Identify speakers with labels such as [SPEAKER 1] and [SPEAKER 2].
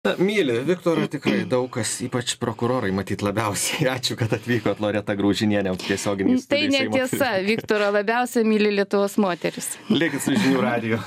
[SPEAKER 1] Myli Viktorą tikrai daug kas, ypač prokurorai, matyt labiausiai. Ačiū, kad atvykot, Loreta Graužinienė, tiesioginį
[SPEAKER 2] Tai netiesa, Viktorą labiausiai myli Lietuvos moteris.
[SPEAKER 1] Likit su žinių radiju.